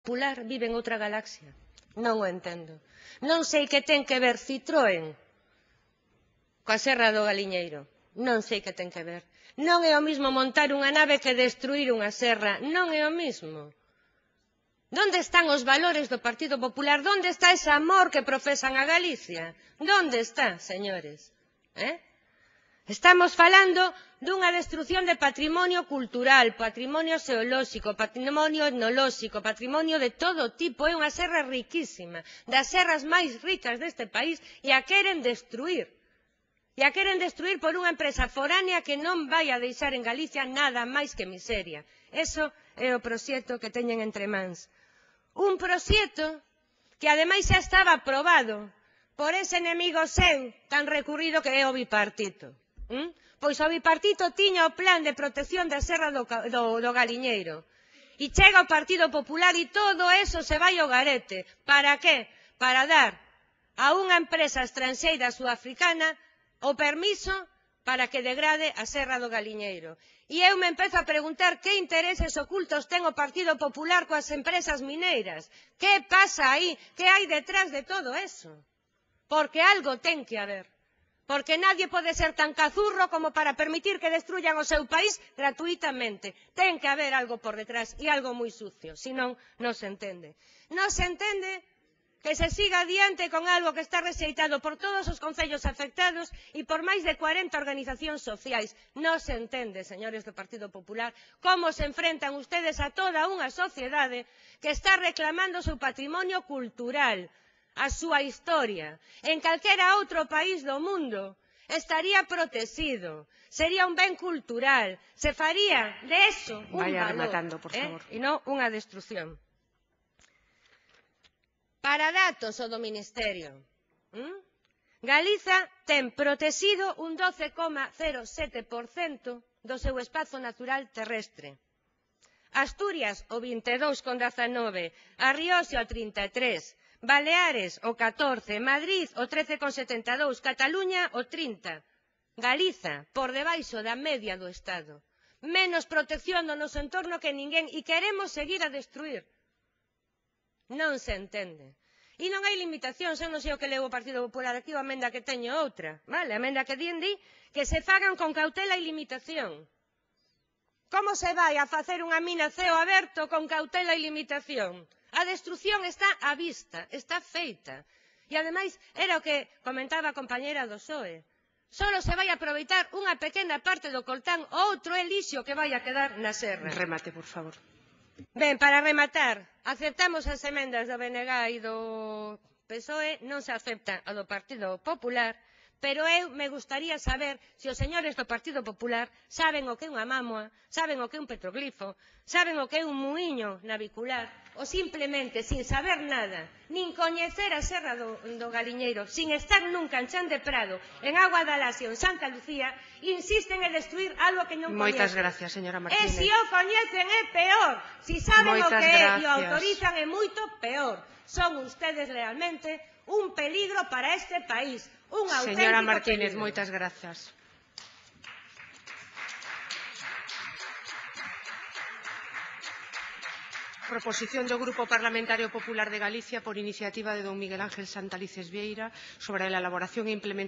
Popular vive en outra galaxia. Non o entendo. Non sei que ten que ver Citroën coa Serra do Galiñeiro. Non sei que ten que ver. Non é o mismo montar unha nave que destruir unha serra. Non é o mismo. ¿Dónde están os valores do Partido Popular? ¿Dónde está ese amor que profesan a Galicia? ¿Dónde está, señores? Estamos falando dunha destrucción de patrimonio cultural, patrimonio xeolóxico, patrimonio etnolóxico, patrimonio de todo tipo. É unha serra riquísima, das serras máis ricas deste país, e a queren destruir. E a queren destruir por unha empresa foránea que non vai a deixar en Galicia nada máis que miseria. Eso é o proxecto que teñen entre mans. Un proxecto que ademais xa estaba aprobado por ese enemigo seu tan recurrido que é o bipartito. Pois o bipartito tiña o plan de protección da Serra do Galiñeiro. E chega o Partido Popular e todo eso se vai ao garete. Para que? Para dar a unha empresa estranxeira sudafricana o permiso para que degrade a Serra do Galiñeiro. E eu me empezo a preguntar que intereses ocultos ten o Partido Popular coas empresas mineiras. Que pasa aí? Que hai detrás de todo eso? Porque algo ten que haber. Porque nadie pode ser tan cazurro como para permitir que destruyan o seu país gratuitamente. Ten que haber algo por detrás e algo moi sucio, senón non se entende. Non se entende que se siga adiante con algo que está rexeitado por todos os concellos afectados e por máis de 40 organizacións sociais. Non se entende, señores do Partido Popular, como se enfrentan ustedes a toda unha sociedade que está reclamando o seu patrimonio cultural, a súa historia. En calquera outro país do mundo estaría protegido, sería un ben cultural, se faría de eso un Vaya valor, rematando, por favor. E non unha destrucción. Para datos o do Ministerio, Galiza ten protegido un 12,07% do seu espazo natural terrestre. Asturias o 22,19%, a Rioxa o 33%, Baleares o 14%, Madrid o 13,72%, Cataluña o 30%. Galiza, por debaixo da media do Estado. Menos protección do noso entorno que ninguén e queremos seguir a destruir. Non se entende. E non hai limitacións, eu non sei o que leu o Partido Popular aquí, a emenda que teño outra, vale? A emenda que di que se fagan con cautela e limitación. Como se vai a facer unha mina a ceo aberto con cautela e limitación? A destrucción está á vista, está feita. E ademais, era o que comentaba a compañera do PSOE. Solo se vai aproveitar unha pequena parte do coltán, o outro é lixo que vai a quedar na serra. Remate, por favor. Ben, para rematar, aceptamos as emendas do BNG e do PSOE, non se acepta a do Partido Popular, pero eu me gustaría saber se os señores do Partido Popular saben o que é unha mámoa, saben o que é un petroglifo, saben o que é un muíño navicular, ou simplemente, sin saber nada, nin coñecer a Serra do Galiñeiro, sin estar nunca en Chan de Prado, en Agua da Lasia ou en Santa Lucía, insisten en destruir algo que non coñecen. Moitas gracias, señora Martínez. E se o coñecen é peor, se saben o que é e o autorizan é moito peor. Son ustedes realmente un peligro para este país, un auténtico Señora Martínez, peligro. moitas grazas. Proposición do Grupo Parlamentario Popular de Galicia por iniciativa de don Miguel Ángel Santalices Vieira sobre a elaboración e implementación